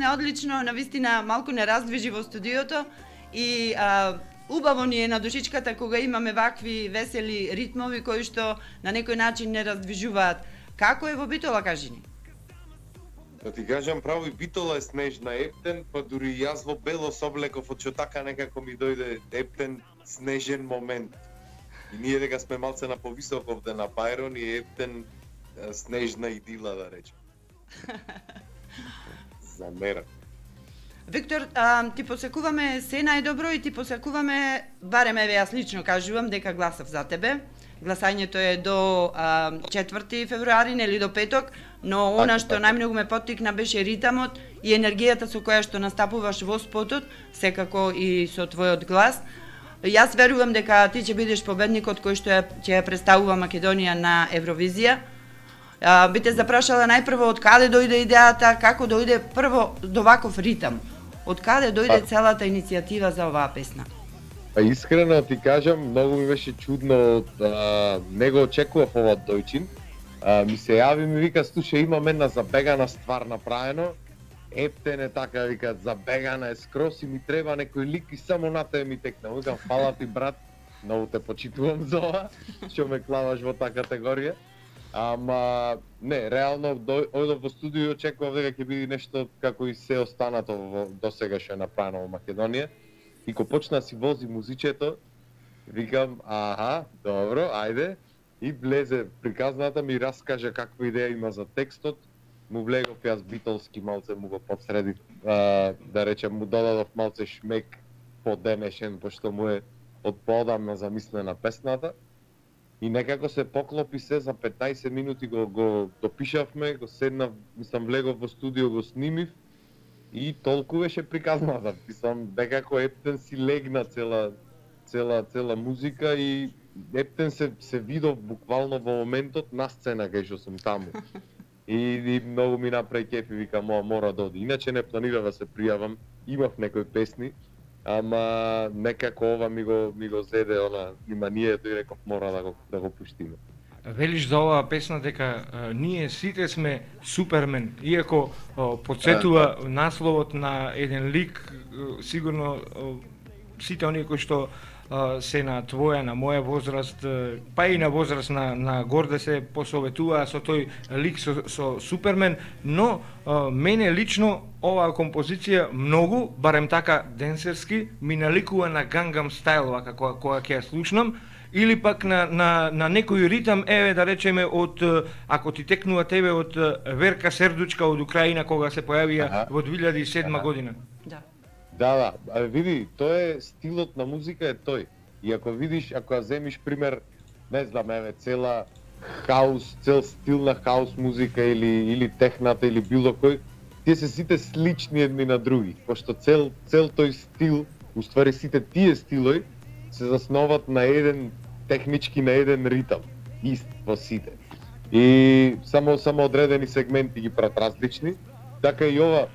Одлично, навистина малку не раздвижи во студиото и убаво ни е на душичката кога имаме вакви весели ритмови кои што на некој начин не раздвижуваат. Како е во Битола, кажи ни? Да ти кажам право, и Битола е снежна Ептен, па дури јас во бело соблеков, од така некако ми дојде Ептен снежен момент. И ние дека сме малце на повисок овде на Пајрон и Ептен снежна идила, да речем. Замера. Виктор, ти посекуваме се најдобро и ти посекуваме, барем еве јас лично кажувам дека гласав за тебе. Гласањето е до 4 февруари, нели до петок, но она што најмногу ме поттикна беше ритамот и енергијата со која што настапуваш во спотот, секако и со твојот глас. Јас верувам дека ти ќе бидеш победникот кој што ќе ја представува Македонија на Евровизија. Би те запрашала најпрво од каде дојде идејата, како дојде прво до ваков ритам? Од каде дојде целата иницијатива за оваа песна? Па искрено ти кажам, многу ми беше чудно, не го очекував ова дојчин. Ми се јави, ми вика, слушај, имам една забегана ствар направено. Ептен е така, вика, забегана е скрос и ми треба некој лик и само на тебе ми текна. Викам, фала ти брат, многу те почитувам за ова, што ме клаваш во таа категорија. Ама, не, реално, одов во студио и очекував дека ќе биде нешто како и се останато до сега што е направено во Македонија. И кога почна да си вози музичето, викам, аха, добро, ајде. И влезе приказната, ми раскажа каква идеја има за текстот. Му влегов јас битолски малце, му го подсредив, да речем, му додадов малце шмек поденешен, пошто му е од поодамна замислена песната. И некако се поклопи се, за 15 минути го допишавме, го седнав, мислам, влегов во студио, го снимив и толку беше приказната. Мислам, некако Ептен си легна цела музика и Ептен се видов буквално во моментот на сцена кај што сум таму. И многу ми направи кеф и викам, мора да оди. Иначе не планирав да се пријавам, имав некои песни, ама некако ова ми го зеде она вниманието и реков мора да го пуштиме. Велиш за оваа песна дека ние сите сме Супермен, иако подсетува насловот на еден лик, сигурно сите оние кои што се на твоја, на моја возраст, па и на возраст на Горде се посоветуваа со тој лик со Супермен, но мене лично оваа композиција многу, барем така денсерски, ми наликува на Gangnam Style, вака кога ќе ја слушнам, или пак на некој ритам, еве да речеме од, ако ти текнува тебе, од Верка Сердучка од Украина, кога се појавија во 2007 година. Да, види, тоа е стилот на музика е тој. И ако видиш, ако ја земиш пример, не знам, еве, цел стил на хаус музика или техната или било кој, тие се сите слични едни на други, пошто цел тој стил, уствари сите тие стилови се засноват на еден технички, на еден ритам, ист во сите. И само одредени сегменти ги прават различни, така и ова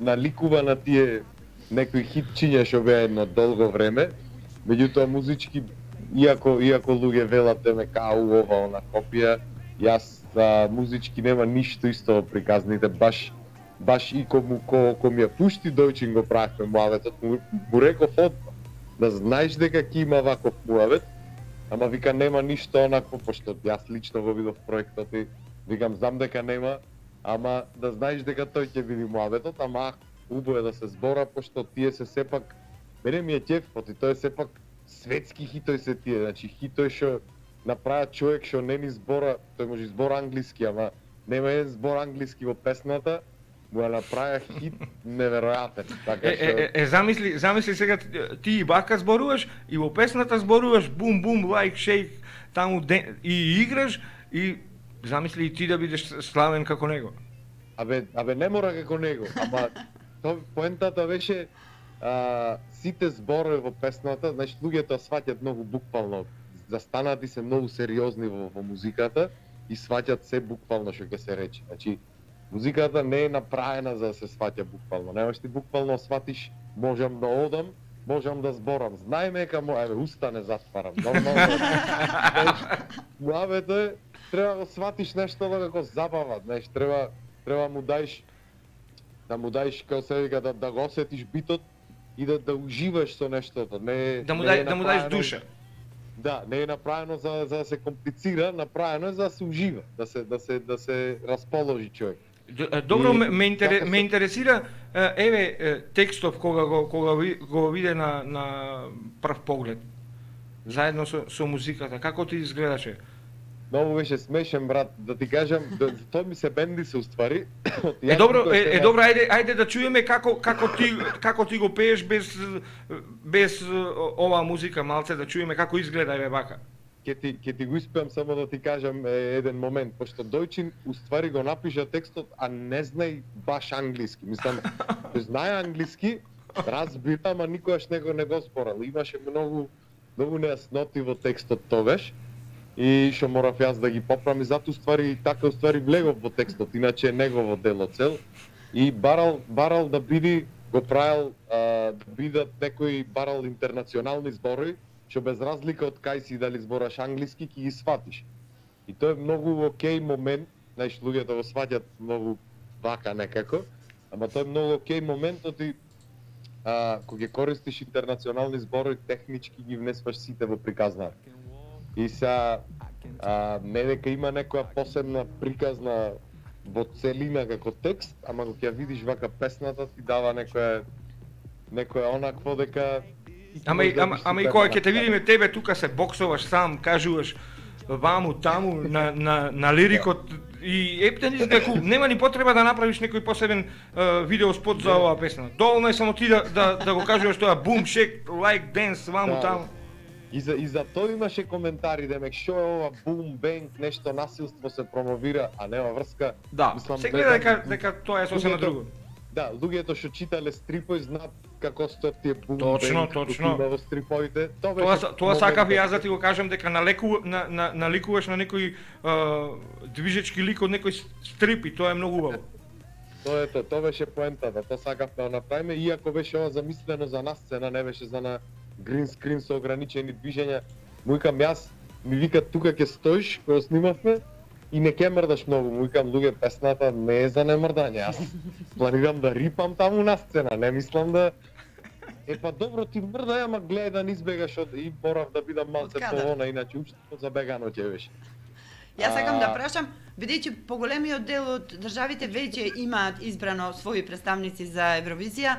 наликува на тие некои хитчиња што беа на долго време, меѓутоа музички, иако луѓе велат деме као ова она копија, јас музички нема ништо исто во приказните, баш и ко ми ја пушти дојчин го правевме муаветот, му реков одма, да знаеш дека ќе има ваков муавет, ама вика нема ништо онакво, пошто јас лично го видов проектот и викам знам дека нема, ама да знаеш дека тој ќе биде муаветот, ама убаво е да се збора, пошто тие се сепак, мене ми е ќефот и тоа е сепак светски хитој се тие, значи хитој што направа човек што не ни збора, тој може збора англиски, ама нема еден збор англиски во песната, му ја направа хит неверојатен. Така што замисли сега ти и бака зборуваш и во песната зборуваш бум бум лайк шейк таму и играш и замисли и ти да бидеш славен како него. Абе не мора како него, ама поентата беше сите зборови во песната, значи луѓето сваќаат многу буквално, застанати се многу сериозни во музиката и сваќаат се буквално што ќе се рече. Значи музиката не е направена за да се сваќа буквално. Немаш ти буквално сватиш, можам да одам, можам да зборам. Знаеме дека уста не затварам. Нормално. Муавето е треба да сватиш нешто како забава, знаеш, треба му даеш да му даеш како се вика да го осетиш битот и да уживаш со нештото, не Да му направено- даеш душа. Да, не е направено за да се комплицира, направено е за да се ужива, да се расположи човек. Добро, И ме така се- интересира текстов кога го виде на прв поглед. Заедно со музиката, како ти изгледаше? Многу беше смешен, брат, да ти кажам, тоа ми се бенди се уствари. Добро, ајде да чуеме како ти го пееш без оваа музика, малце да чуеме како изгледа вака. Ќе ти го испеам само да ти кажам еден момент, пошто Дојчин уствари го напиша текстот, а не знај баш англиски. Мислам, тој знае англиски, разбира, ама никогаш не го зборал. Имаше многу нејасноти во текстот тогаш. И што морав јас да ги поправам и затоа така влегов во текстот, иначе е негово дело цел. И барал да биде, го правил да бидат некои барал интернационални зборови, што без разлика од кај си дали збораш англиски, ќе ги сватиш. И тоа е многу окей момент, знаеш, луѓето го сваќат многу вака некако, ама тоа е многу окей момент, оти кога ќе користиш интернационални зборови, технички ги внесваш сите во приказна. И не дека има некоја посебна приказна во целина како текст, ама кога ќе видиш вака песната ти дава некоја онакво дека Ама и кога ќе те видиме тебе тука се боксуваш сам, кажуваш ваму таму на лирикот и ептен дека нема ни потреба да направиш некој посебен видеоспот за оваа песна. Доволно е само ти да го кажуваш тоа бум шек лайк денс ваму таму. И за тоа имаше коментари, демек што е ова бум бенг, нешто насилство се промовира, а нема врска. Да, се гледа дека тоа е сосема друго. Да, луѓето што читале стрипови знаат како стоят тие бум Точно. бенг во стриповите. Тоа сакав и јас да ти го кажам дека наликуваш на некој движечки лик од некој стрип и тоа е многу убаво. Тоа беше поентата, тоа сакавме да направиме, иако беше ова замислено за нас сцена, не беше за на грин скрин со ограничени движења. Му викам јас, ми вика тука ќе стоиш кога снимавме и не ќе мрдаш многу. Му викам луѓе, песната не е за немрдање. Јас планирам да рипам таму на сцена, не мислам да па добро ти мрдај, ама гледај да не избегаш и морав да бидам малце повона, иначе уште забегано ќе беше. Јас сакам да прашам, бидејќи поголемиот дел од државите веќе имаат избрано своји представници за Евровизија,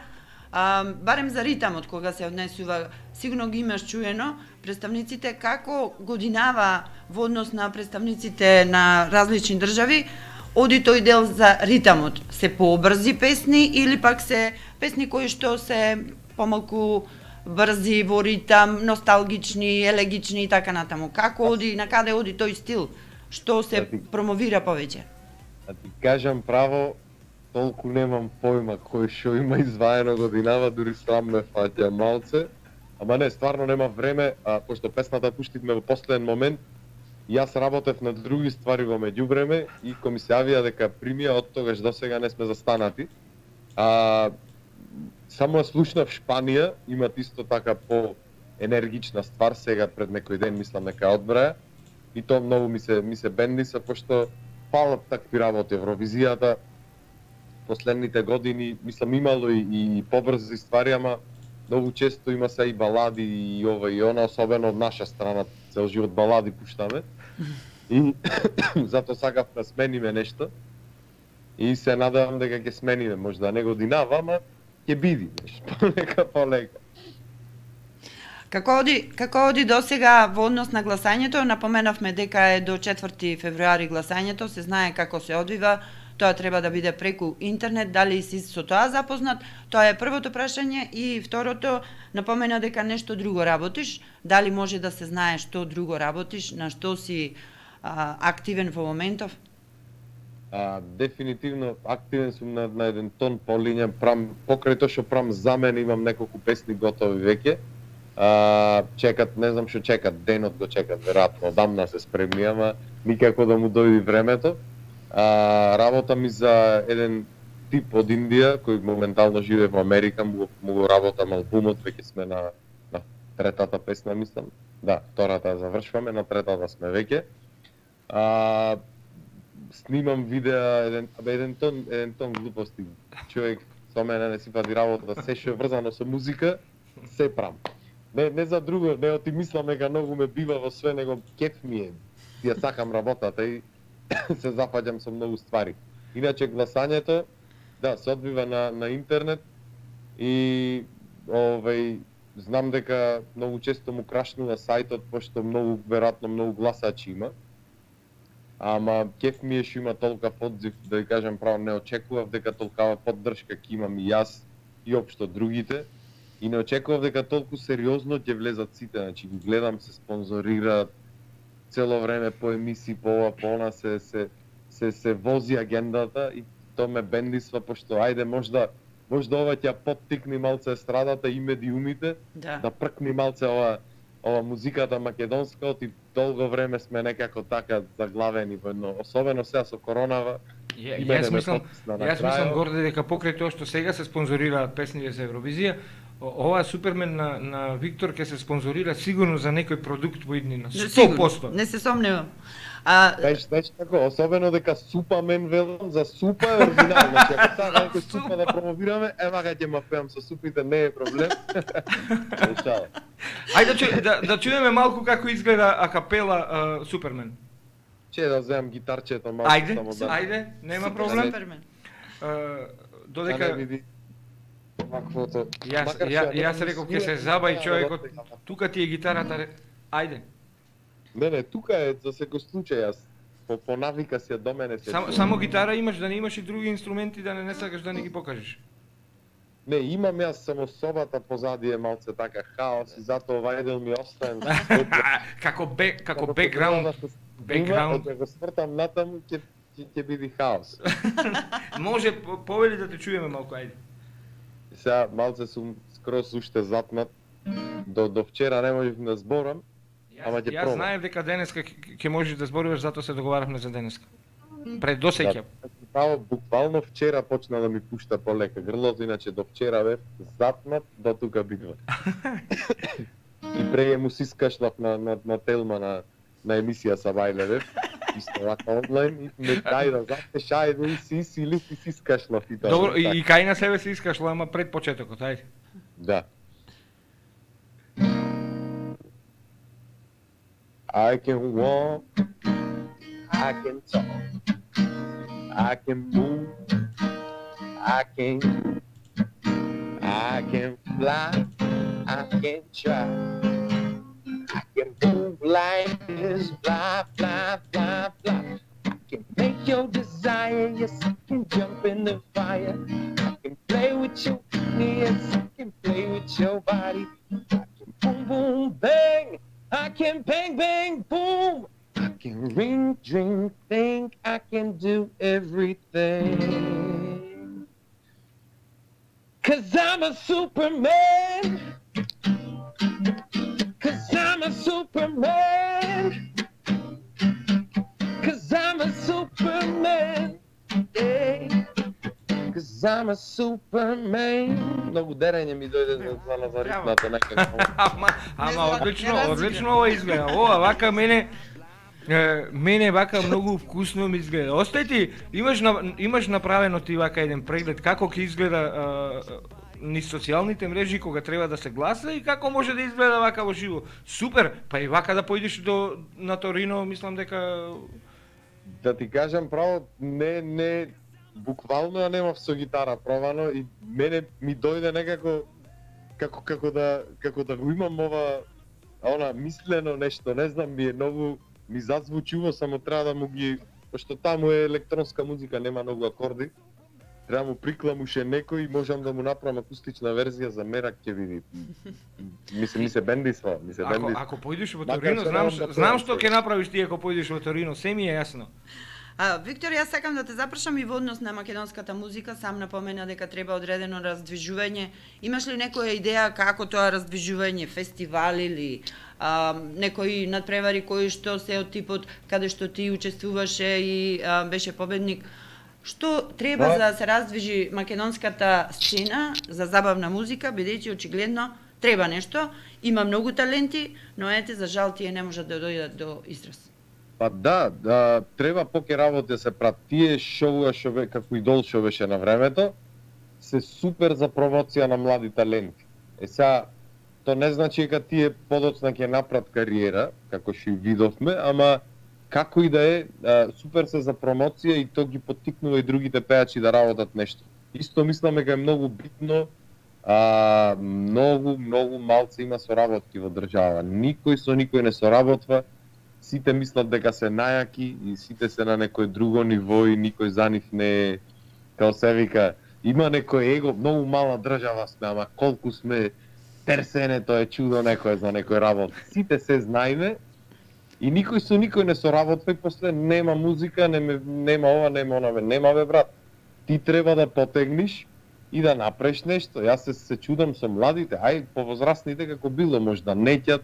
барем за ритамот кога се однесува, сигурно ги имаш чуено, представниците како годинава во однос на представниците на различни држави, оди тој дел за ритамот, се побрзи песни или пак се песни кои што се помалку брзи во ритам, носталгични, елегични и така натаму. Како оди, на каде оди тој стил? Што се промовира повеќе? Да ти кажам право, толку немам појма кој што има изваено годинава, дури срам ме фаќа малце. Ама не, стварно нема време, пошто песната пуштивме во последен момент. Јас работев на други ствари во меѓувреме и кој ми се јавија дека примија од тогаш до сега не сме застанати. Само слушнав Шпанија, имат исто така по-енергична ствар сега пред некој ден, мислам дека одбраја. И тоа многу ми се бенди, пошто фалат такви работи. Евровизијата последните години, мислам, имало и побрзи ствари, ама многу често има се и балади и ова и она, особено од наша страна, цел живот балади пуштаме. И затоа сакав да смениме нешто. И се надевам дека ќе смениме, можда не годинава, ама ќе биде нешто, полека. Како оди до сега во однос на гласањето? Напоменавме дека е до 4 февруари гласањето, се знае како се одвива, тоа треба да биде преку интернет, дали си со тоа запознат? Тоа е првото прашање и второто, напомена дека нешто друго работиш, дали може да се знае што друго работиш, на што си активен во моментов? Дефинитивно активен сум на еден тон по линија, покрај тоа што правам за мене, имам неколку песни готови веќе. Чекат, не знам што чекат, денот го чекат, веројатно одамна се спремни, ама никако да му дојде времето. Работам и за еден тип од Индија, кој моментално живее во Америка, му го работам албумот, веќе сме на третата песна, мислам. Да, втората завршваме, на третата сме веќе. снимам видеа, еден тон глупости. Човек со мене не си вади работа, се што е врзано со музика, се прам. Не за друго, не оти мислам дека многу ме бива во све, него кеф ми е. Ја сакам работата и се зафаќам со многу ствари. Иначе гласањето, да, се одбива на интернет и знам дека многу често му крашнува сајтот, пошто веројатно многу гласачи има. Ама кеф ми е што има толка одзив, да ви кажам право, не очекував дека толкава поддршка ќе имам и јас и општо другите. И не очекував дека толку сериозно ќе влезат сите, значи ги гледам, се спонзорираат цело време по емисии, по ова, по она, се вози агендата и тоа ме бендисва, пошто ајде можда ова ќе поттикни малце естрадата и медиумите, да пркни малце ова музиката македонска, оти долго време сме некако така заглавени во едно, особено сега со коронава. Јас мислам горде дека покрај тоа што сега се спонзорираат песните за Евровизија, ова Супермен на Виктор ќе се спонзорира сигурно за некој продукт во иднина, 100%. Не се сомневам. Знаеш како, особено дека Супамен велам за супа е оригинал, значи ако сега некој супа да промовираме, вака ќе ма пеам со супите, не е проблем. Ајде да чуеме малку како изгледа акапела Супермен. Че да земам гитарчето малку само да. Ајде, нема проблем. Додека Јас реков ќе се забави човекот, тука ти е гитарата, ајде. Не, тука е за секој случај, јас по навика си до мене се. Само гитара имаш, да не имаш и други инструменти, да не сакаш да не ги покажеш. Не, имам јас само собата позади е малце така хаос и затоа ова еден ми оставен. Како бекграунд. Ако го свртам натаму ќе биде хаос. Може повели да те чуеме малку, ајде. Сега малце сум скроз уште затнат. До вчера не можев да зборам. Јас знаев дека денеска ќе можеш да зборуваш, затоа се договаравме за денеска. Пред досеќа. Буквално вчера почна да ми пушта полека грлото, иначе до вчера бев затнат до тука битва. И преј му си скашлав на Телма на емисија са Бајле бев. Исто вака онлайн и ме дајда затеш, ајде и си сили и си скашлав и тоа. Добро, и кај на себе си искашлав, ама пред почетокот, ајде. Да. I can walk, I can talk, I can move, I can fly, I can try, I can move like this, fly, fly, fly, fly. I can make your desire, yes, I can jump in the fire. I can play with your yes, I can play with your body. I can boom, boom, bang. I can bang, bang, boom. I can ring, drink, think. I can do everything. 'Cause I'm a Superman. 'Cause I'm a Superman. 'Cause I'm a Superman. Yeah. 'Cause I'm a Superman. Многу дерење ми дојде за ритмата некако. Ама одлично ова изгледа. Ова вака мене вака многу вкусно ми изгледа. Остај ти, имаш направено ти вака еден преглед како ќе изгледа низ социјалните мрежи кога треба да се гласа и како може да изгледа вака во живо. Супер, па и вака да поидеш на Торино, мислам дека да ти кажам право, не буквално ја немав со гитара пробано и мене ми дојде некако како да го имам она мислено нешто, не знам, ми зазвучува, само треба да му ги, пошто таму е електронска музика, нема многу акорди. Треба му прикламуше некој и можам да му направам акустична верзија за мерак ќе види. Ми се бендисва. Ако поидеш во Торино, знам што ќе направиш ти ако поидеш во Торино, се ми е јасно. Виктор, јас сакам да те запрашам и во однос на македонската музика, сам напомена дека треба одредено раздвижување. Имаш ли некоја идеја како тоа раздвижување, фестивали или некои надпревари кои што се од типот каде што ти учествуваше и беше победник? Што треба за да се раздвижи македонската сцена за забавна музика, бидејќи очигледно треба нешто, има многу таленти, но ете за жал тие не можат да дојдат до израз. Па да, треба поќе работи да се прат. Тие шоуа како идол шо беше на времето, се супер за промоција на млади таленти. Сега, то не значи дека тие подоцна ќе направат кариера, како што и видовме, ама како и да е, супер се за промоција и то ги поттикнува и другите пејачи да работат нешто. Исто мислам дека е многу битно, многу малце има соработки во држава. Никој со никој не соработва, сите мислат дека се најаки и сите се на некој друго ниво и никој за нив не е, као се вика, има некој его, многу мала држава сме, ама колку сме терсенето е чудо некој за некој работ. Сите се знаеме и никој со никој не соработва и после нема музика, нема ова, нема она, нема бе брат. Ти треба да потегниш и да направиш нешто. Јас се чудам со младите, ај повозрастните како било, можда неќат,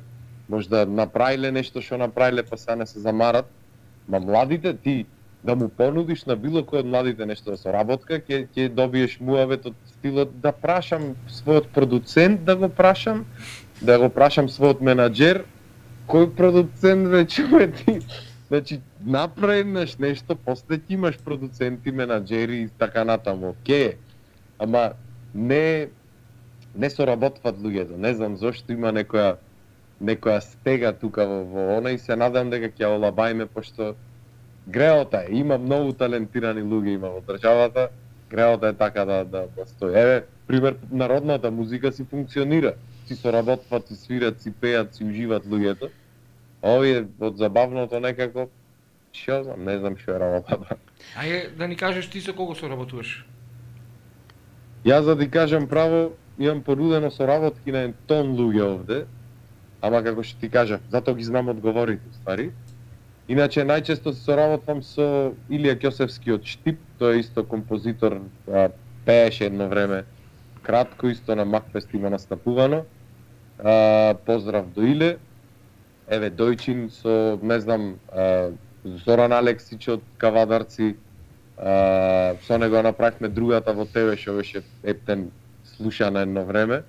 можда направиле нешто што направиле па сега не се замарат. Ма младите ти да му понудиш на било кој од младите нешто да соработка, ќе добиеш муавет од стилот да прашам својот продуцент да го прашам својот менаџер, кој продуцент веќе ти. Значи, направиш нешто, после ти имаш продуценти, менаџери и така натаму, окей. Ама не соработват луѓето. Не знам зошто има некоја стега тука во она и се надам дека ќе олабајме, пошто греота е, има многу талентирани луѓе има во државата, греота е така да стои. Еве, пример, народната музика си функционира, си соработват, си свират, си пеат, си уживат луѓето. Овие од забавното некако, што знам, не знам што е работата. Ајде да ни кажеш ти со кого соработуваш? Јас да ти кажам право, имам понудено соработки на тон луѓе овде, ама како што ти кажав, затоа ги знам одговорите, ствари. Иначе најчесто се соработвам со Илија Ќосевски од Штип, тој е исто композитор, пееше едно време кратко, исто на Макфест има настапувано. Поздрав до Иле. Еве Дојчин со, не знам, Зоран Алексич од Кавадарци, со него направивме другата во тебе што беше ептен слушана едно време.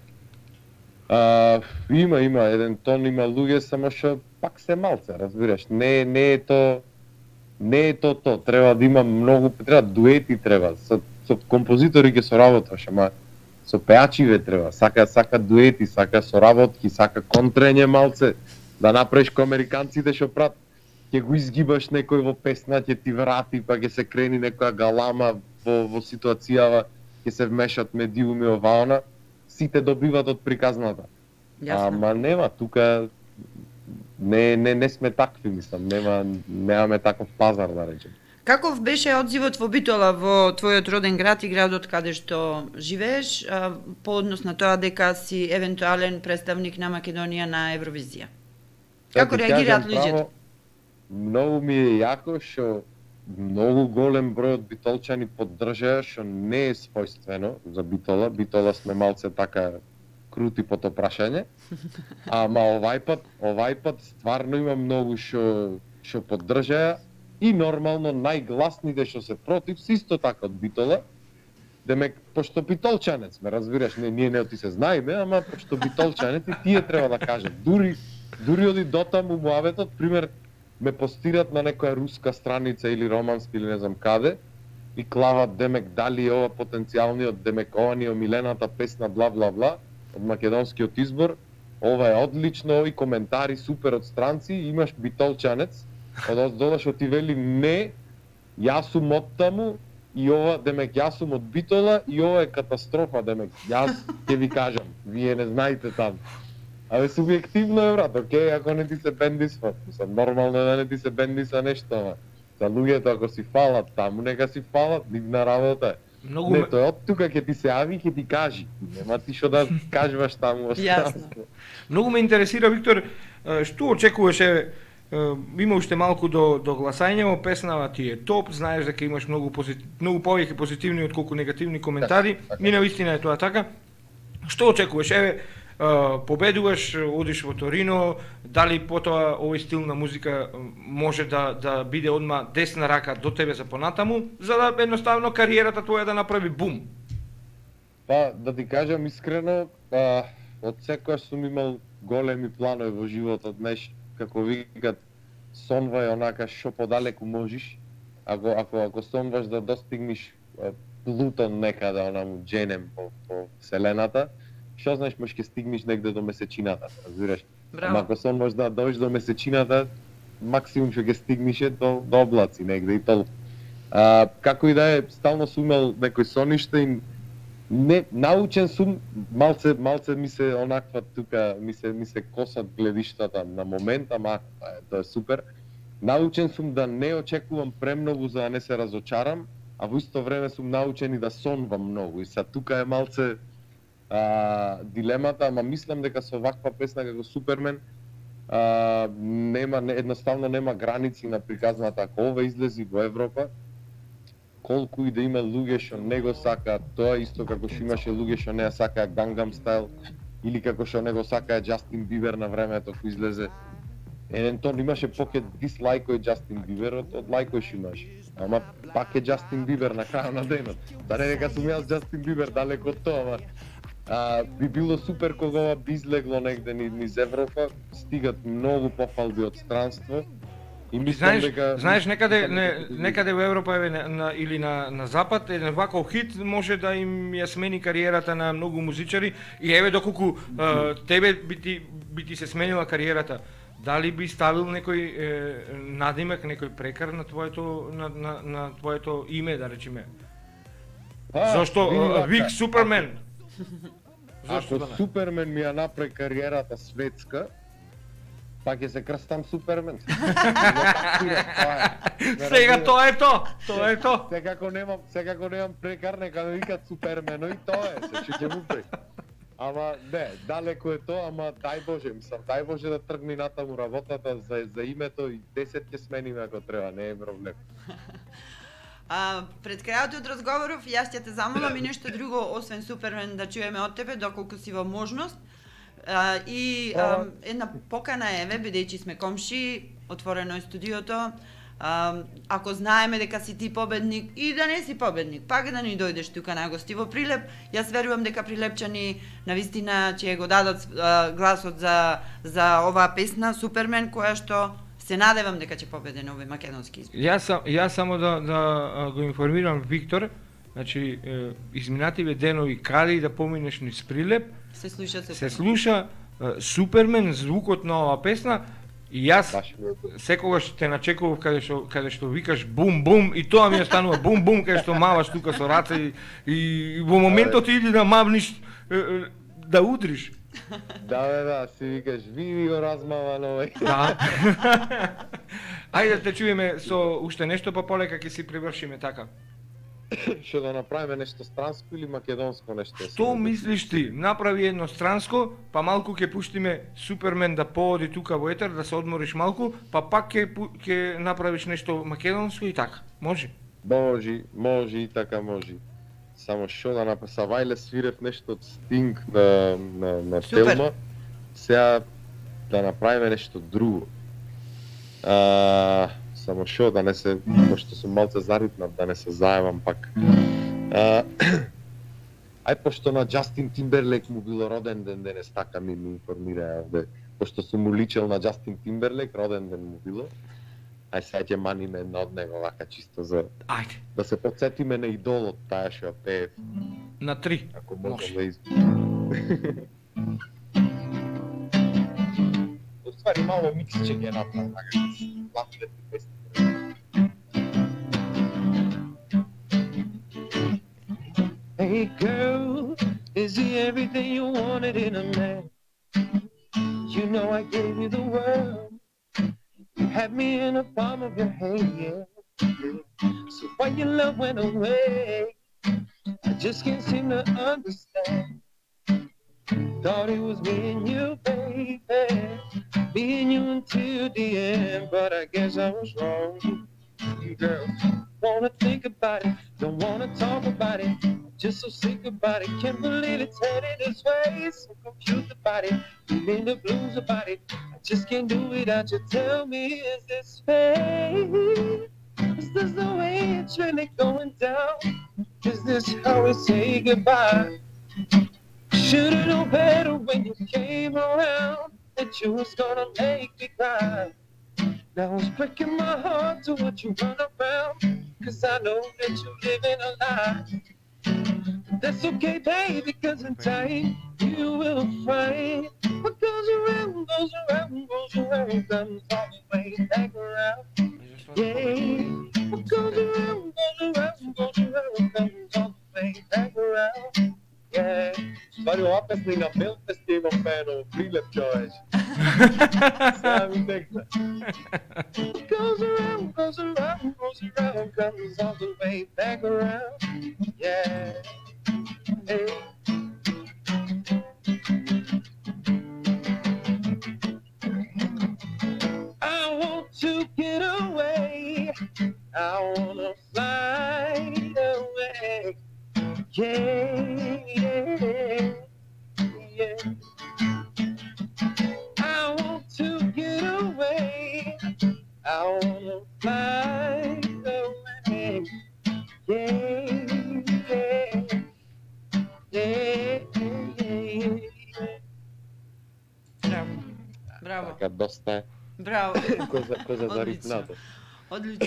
Има еден тон, има луѓе, само што пак се малце, разбираш, не е то, треба да има многу, треба дуети треба, со композитори ќе соработваш, ама со пеачиве треба, сака дуети, сака соработки, сака контрење малце, да направиш ко американците што прат, ќе го изгибаш некој во песна, ќе ти врати, па ќе се крени некоја галама во ситуацијава, ќе се вмешат медиуми оваона, сите добиват од приказната. Ама нема, тука не сме такви, мислам, немаме таков пазар, да речем. Каков беше одзивот во Битола, во твојот роден град и градот каде што живееш, по однос на тоа дека си евентуален представник на Македонија на Евровизија? Како реагираат луѓето? Многу ми е јако што многу голем број од битолчани поддржаа, што не е својствено за Битола. Битола сме малце така крути по тоа прашање. Ама овај пат стварно има многу што поддржаа и нормално најгласните што се против се исто така од Битола. Демек, пошто битолчанец сме, разбираш, ние не оти се знаеме, ама пошто битолчанец и тие треба да кажат. Дури оди дотаму муаветот, пример, ме постират на некоја руска страница или романска или не знам каде и клават демек дали ова потенцијалниот, демек ова ни омилената песна бла бла бла од македонскиот избор, ова е одлично и коментари супер од странци, имаш битолчанец, од дола што ти вели не, јас сум од таму и ова, демек јас сум од Битола и ова е катастрофа, демек јас ќе ви кажам, вие не знаете таму. Абе, субјективно е, брат, окей, ако не ти се бендисва, нормално е да не ти се бендиса нешто, ама за луѓето ако си фалат таму, нека си фалат, нивна работа е. Не, тој од тука ќе ти се јави и ќе ти кажи, нема ти што да кажуваш таму во странство. Многу ме интересира, Виктор, што очекуваш, има уште малку до гласање, песнава ти е топ, знаеш дека имаш многу повеќе позитивни отколку негативни коментари, и навистина е тоа така. Што очекуваш? Победуваш, одиш во Торино, дали потоа овој стил на музика може да биде одма десна рака до тебе за понатаму, за да едноставно кариерата твоја да направи бум? Па, да ти кажам искрено, од секојаш сум имал големи планови во животот, знаеш, како викат, сонвај онака што подалеку можеш. Ако сонваш да достигнеш Плутон некаде онаму дженем по вселената, што знаеш можеш ќе стигнеш негде до месечината, разбираш? Ама ако сонваш да дојдеш до месечината, максимум што ќе стигнеш е до облаци негде и толку. Како и да е, стално сум имал некој сониште и не научен сум, малце ми се онаква тука, ми се косат гледиштата на момент, ама тоа е супер. Научен сум да не очекувам премногу за да не се разочарам, а во исто време сум научен и да сонвам многу. И са тука е малце дилемата, ама мислам дека со ваква песна како Супермен едноставно нема граници на приказната. Ако ова излези во Европа, колку и да има луѓе што не го сакаат, тоа исто како што имаше луѓе што не ја сакаат Gangnam Style, или како што не го сакаат Justin Bieber на времето кога излезе. Тоа имаше поке дислайкој Justin Bieber од лайкој што имаше. Ама пак е Justin Bieber на крајот на денот. Да не дека сум јас Justin Bieber далеко од тоа, ама би било супер кога ова би излегло негде низ Европа, стигат многу пофалби од странство. И мислам дека знаеш некаде во Европа или на запад еден ваков хит може да им ја смени кариерата на многу музичари и еве доколку тебе би ти се сменила кариерата. Дали би ставил некој надимек, некој прекар на твоето име, да речеме? Зошто Вик Супермен? Ако Супермен ми ја направи кариерата светска, па ќе се крстам Супермен. Сега тоа е то. Секако немам прекар, нека ме викат Супермено и тоа е, се ќе му прави. Ама не, далеко е тоа, ама дај Боже да тргни натаму работата за името и 10 ќе смениме ако треба, не е проблем. Пред крајот од разговоров, јас ќе те замолам и нешто друго, освен Супермен, да чуеме од тебе, доколку си во можност. Една покана еве, бидејќи сме комши, отворено е студиото. Ако знаеме дека си ти победник и да не си победник, пак да ни дојдеш тука на гости во Прилеп. Јас верувам дека прилепчани навистина ќе го дадат гласот за оваа песна Супермен, која што се надевам дека ќе победи на овој македонски избор. Јас само да го информирам Виктор, значи изминативе денови каде и да поминеш низ Прилеп, се слуша Супермен, звукот на оваа песна. И јас секогаш те начекував каде што викаш бум бум и тоа ми останува бум бум каде што маваш тука со раце и во моментот иди да мавниш да удриш. Да, си викаш ви го размаван овој. Да. Ајде да те чуеме со уште нешто, па полека ќе си привршиме така. Што да направиме нешто странско или македонско нешто? Што мислиш ти? Направи едно странско, па малку ќе пуштиме Супермен да пооди тука во етер, да се одмориш малку, па пак ќе направиш нешто македонско и така. Може? Може и така може. Само што да направи, Савајле свирев нешто од Sting на Телма, сега да направиме нешто друго. Само што да не се, пошто сум малце заритнат, да не се заевам пак. Ај пошто на Джастин Тимберлейк му било роден ден денес, така ми информира овде. Пошто сум му личел на Джастин Тимберлейк, роден ден му било. Ај сега ќе маниме една од него, вака чисто за... Ајде. Да се подсетиме на идолот, таа што ја пее. На 3. Ако можем да Ствари мало миксче ги направам, така лапите песни. Hey girl, is he everything you wanted in a man? You know I gave you the world. You had me in the palm of your hand, yeah. So why your love went away? I just can't seem to understand. Thought it was me and you, baby. Me and you until the end, but I guess I was wrong. Girl, wanna think about it, don't wanna talk about it. Just so sick about it, can't believe it's headed this way. So confused about it, feeling the blues about it. I just can't do without you. Tell me, is this fate? Is this the way it's really going down? Is this how we say goodbye? Should've known better when you came around, that you was gonna make me cry. Now it's breaking my heart to watch you run around, 'cause I know that you're living a lie. That's okay, baby, 'cause in time you will find what goes around, goes around, goes around, comes all the way back around. Yeah, what goes around, goes around, goes around, comes all the way back around. Yeah. Ствари ова песна и на Белфест ја имам пеено прилеп, човече. Сега ми текна. Goes around, goes around, goes around, comes all the way back around. Yeah. Hey. I want to get away. I wanna fly away. Yeah, yeah, yeah. I want to get away. I wanna fly away. Yeah, yeah, yeah, yeah. Браво. Така, доста е. Браво. Коза за ритмато. Одлично.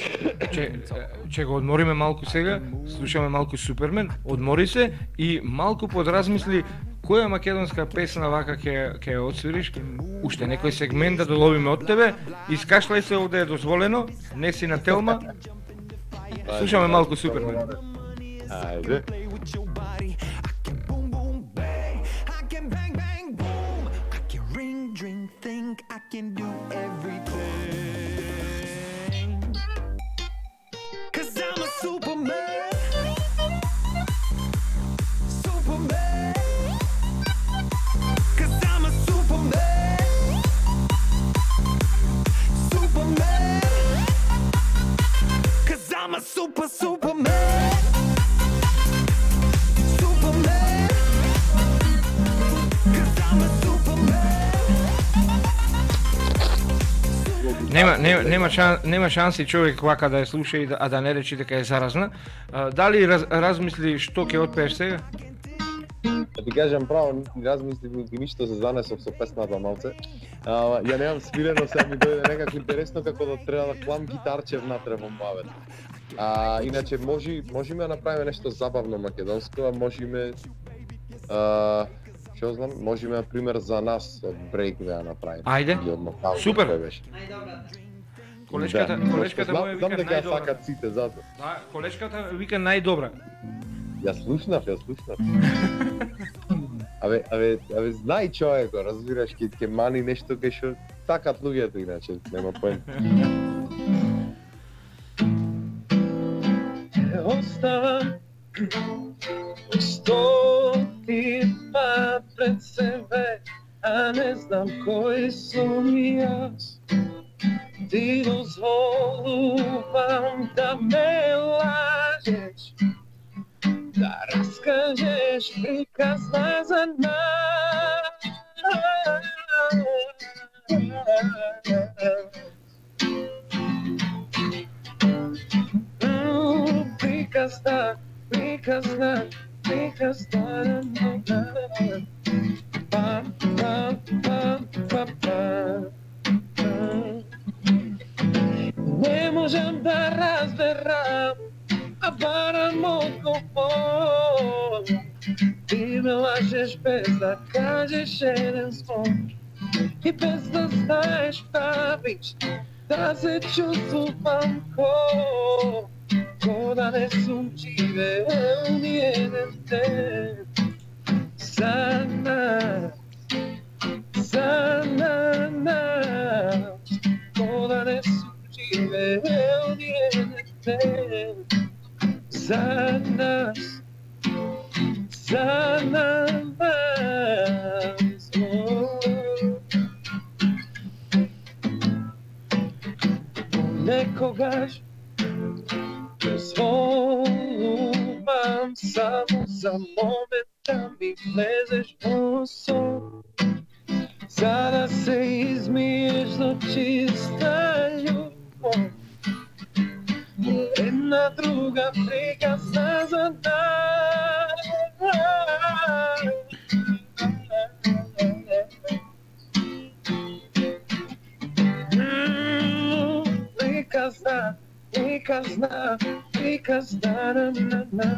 Че го одмориме малку сега, слушаме малку Супермен, одмори се и малку подразмисли која македонска песна вака ќе ја отсвириш, уште некој сегмент да доловиме од тебе, искашлај се овде е дозволено, не си на Телма. Слушаме малку Супермен. Ајде. I can do everything, 'cause I'm a Superman, Superman, 'cause I'm a Superman, Superman, 'cause I'm a Superman, Superman, 'cause I'm a Superman. Нема шанси човек вака да ја слуша и да не речи дека е заразна. Дали размисли што ќе отпееш сега? Да ти кажам право, размислив и ништо се занесов со песната малце. Ја немам свирено, сега ми дојде некако интересно како да треба да клам гитарче внатре во мавет. Иначе можеме да направиме нешто забавно македонско, а можеме што знам, можеме на пример за нас од брейк да ја направиме. Ајде. Супер. Колешката моја вика знам дека ја најдобра. сакат сите затоа. Да, колешката вика најдобра. Ја слушнав. Абе, знај човеко, разбираш, ќе мани нешто кај што сакат луѓето иначе, нема поен. Оставам стотима пред себе, а не знам кој сум јас. Ти дозволувам да ме лажеш, да раскажеш приказна за нас. Приказна. Пам, пам, пам, пам, пам. Не можам да разберам, а барам одговор. Ти ме лажеш без да кажеш еден звон и без да знаеш правиш да се чувствувам ко да не сум живеел ни еден ден. За нас, ко да не сум живеел ни еден ден. За нас, некогаш дозволувам само за момент да ми влезеш во сон, за да се измиеш до чиста љубов. Една друга приказна за нас. because na.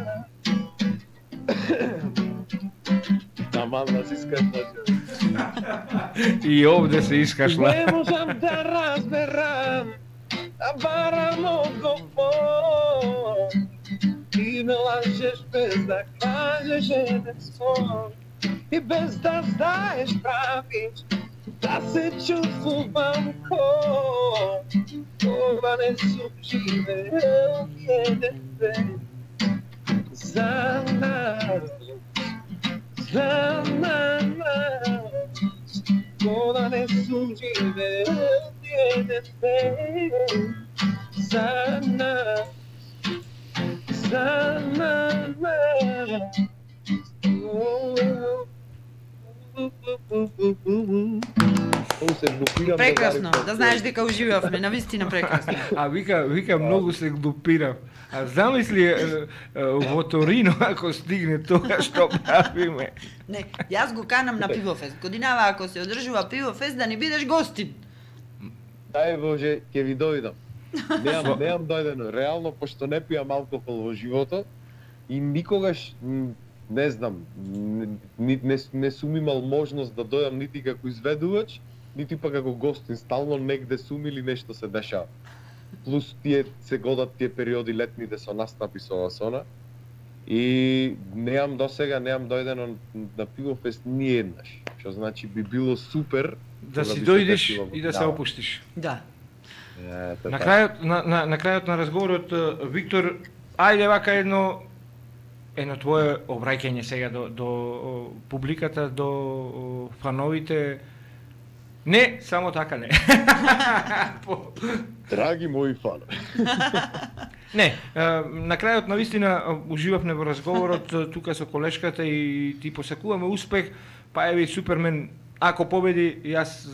Таман да си скашла. И овде се искашла. Не можам да разберам, да барам одговор. Ти ме лажеш без да кажеш еден сон. И без да знаеш правиш, да се чувствувам ова не сум живеел еден ден. За нас, ова не сум живеел еден ден. За нас, Прекрасно, да знаеш дека уживавме, навистина прекрасно. А вика многу се глупирам. А замисли во Торино ако стигне тоа што правиме. Не, јас го канам на пивофест. Годинава ако се одржува пивофест да ни бидеш гостин. Дај Боже, ќе ви дојдам. Неам дојдено. Реално, пошто не пијам алкохол во животот и никогаш, не знам, не сум имал можност да дојдам нити како изведувач, нити па како гостин. Стално негде сум или нешто се дешава. Плюс се годат тие периоди летните со настапи со Ласона. И неам дојдено на пивофест ни еднаш. Што значи би било супер да си дојдеш и да се опуштиш. Да. На крајот на разговорот, Виктор, ајде вака едно твое обраќање сега до публиката, до фановите. Не, само така не. Драги мои фанови. Не, на крајот навистина уживавме во разговорот тука со колешката и ти посакуваме успех, па еви Супермен, ако победи, јас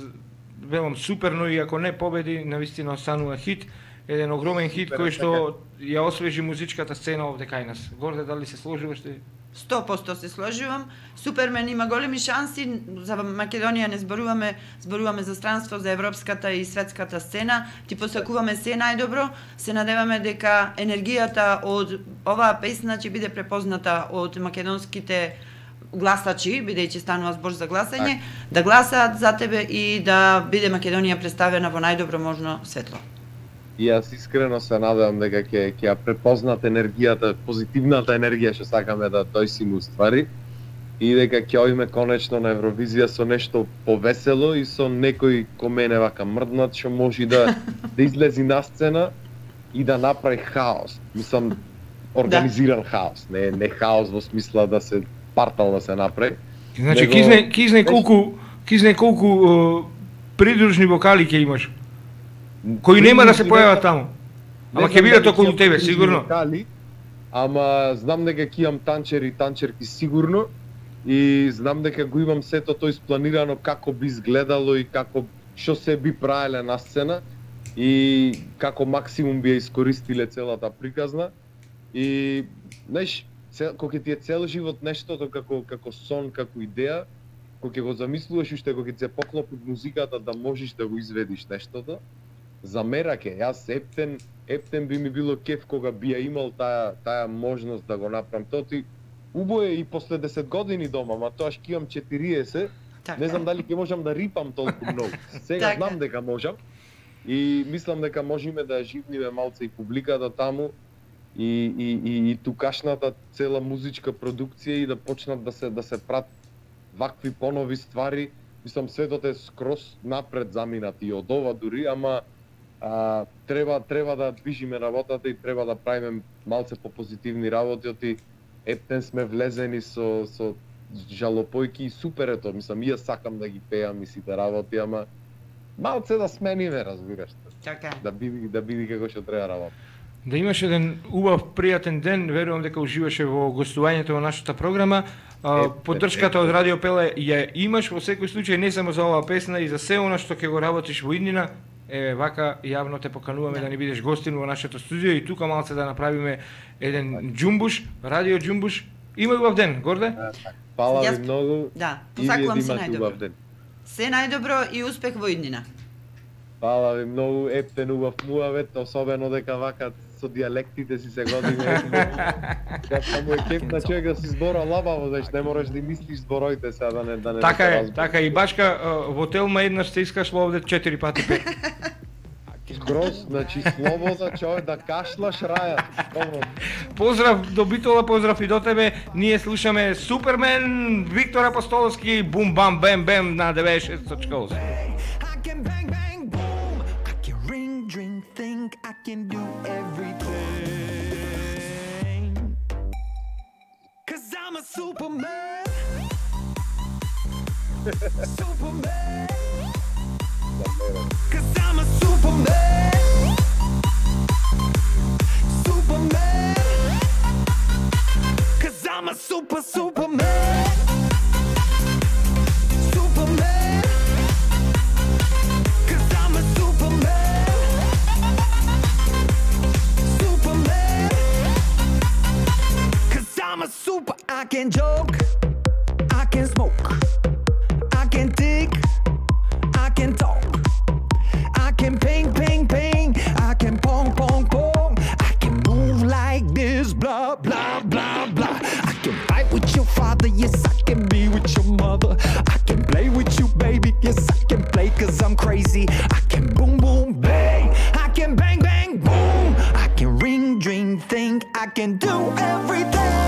велам суперно, и ако не победи, навистина останува хит, еден огромен хит кој што ја освежи музичката сцена овде кај нас. Горде, дали се сложуваш ти? 100% се сложувам. Супермен има големи шанси, за Македонија не зборуваме за странство, за европската и светската сцена. Ти посакуваме се најдобро, се надеваме дека енергијата од оваа песна ќе биде препозната од македонските гласачи, бидејќи станува збор за гласање, да гласаат за тебе и да биде Македонија представена во најдобро можно светло. И јас искрено се надевам дека ќе ја препознат енергијата, позитивната енергија што сакаме да дојсиме уствари и дека ќе оиме конечно на Евровизија со нешто повесело и со некој ко мене вака мрднат што може да излези на сцена и да направи хаос. Мислам организиран хаос, не хаос во смисла да се партал да се направи. Значи кизне колку придружни вокали ќе имаш, кои нема да се појават таму. Ама ќе бидат околу тебе, сигурно. Ама знам дека ќе имам танчери и танчерки сигурно и знам дека го имам сето тоа испланирано како би изгледало и што се би правеле на сцена и како максимум би ја искористиле целата приказна. И знаеш, кога ти е цел живот нештото како сон, како идеја, кога ќе го замислуваш уште кога ќе се поклопи музиката да можеш да го изведиш нештото, за мераке, јас ептен би ми било кеф кога би ја имал таа можност да го направам. Тоа ти убо е и после 10 години дома, ма тоа ќе имам 40, не знам дали ќе можам да рипам толку многу. Сега знам дека можам и мислам дека можеме да живниме малце и публиката таму и тукашната цела музичка продукција и да почнат да се прат вакви понови ствари. Мислам светот е скроз напред заминат и од ова дури, ама треба да движиме работата и треба да правиме малце попозитивни работи. Ептен сме влезени со жалопојки и супер е тоа. Мислам, јас сакам да ги пеам и сите работи, ама малце да смениме, разбираш. Така. Да биди како што треба работа. Да имаш еден убав, пријатен ден, верувам дека уживаше во гостувањето во нашата програма. Поддршката од Радио Пеле ја имаш во секој случај, не само за оваа песна и за се она што ќе го работиш во иднина. Вака јавно те покануваме да ни бидеш гостин во нашето студио и тука малце да направиме еден џумбуш, радио џумбуш. Има убав ден, Горде? Фала ви многу. Да, посакувам се најдобро. Се најдобро и успех во иднина. Фала ви многу, ептен убав муавет, особено дека вака со диалектите си се годиме. Кога му е кеф на човек да си збора лабаво, значи не мораш да мислиш збороите сега да не Така се е, разбереш. така и башка во Телма еднаш се искашло овде 4 пати пе. Скроз, значи слобода човек да кашлаш раја. Слободно. Поздрав до Битола, поздрав и до тебе. Ние слушаме Супермен, Виктор Апостоловски, бум бам бем бем на 96.8. I can bang, bang, boom. I can ring, drink, think. I can do everything. 'Cause I'm a Superman. Superman. 'Cause I'm a Superman. Superman. 'Cause I'm a Superman. Superman. 'Cause I'm a Superman. Superman. 'Cause I'm a super. I can joke. I can smoke. I can dig. I can talk. I can ping, ping, ping. I can pong, pong, pong. I can move like this, blah, blah, blah, blah. I can fight with your father, yes, I can be with your mother. I can play with you, baby, yes, I can play 'cause I'm crazy. I can boom, boom, bang. I can bang, bang, boom. I can ring, dream, think. I can do everything.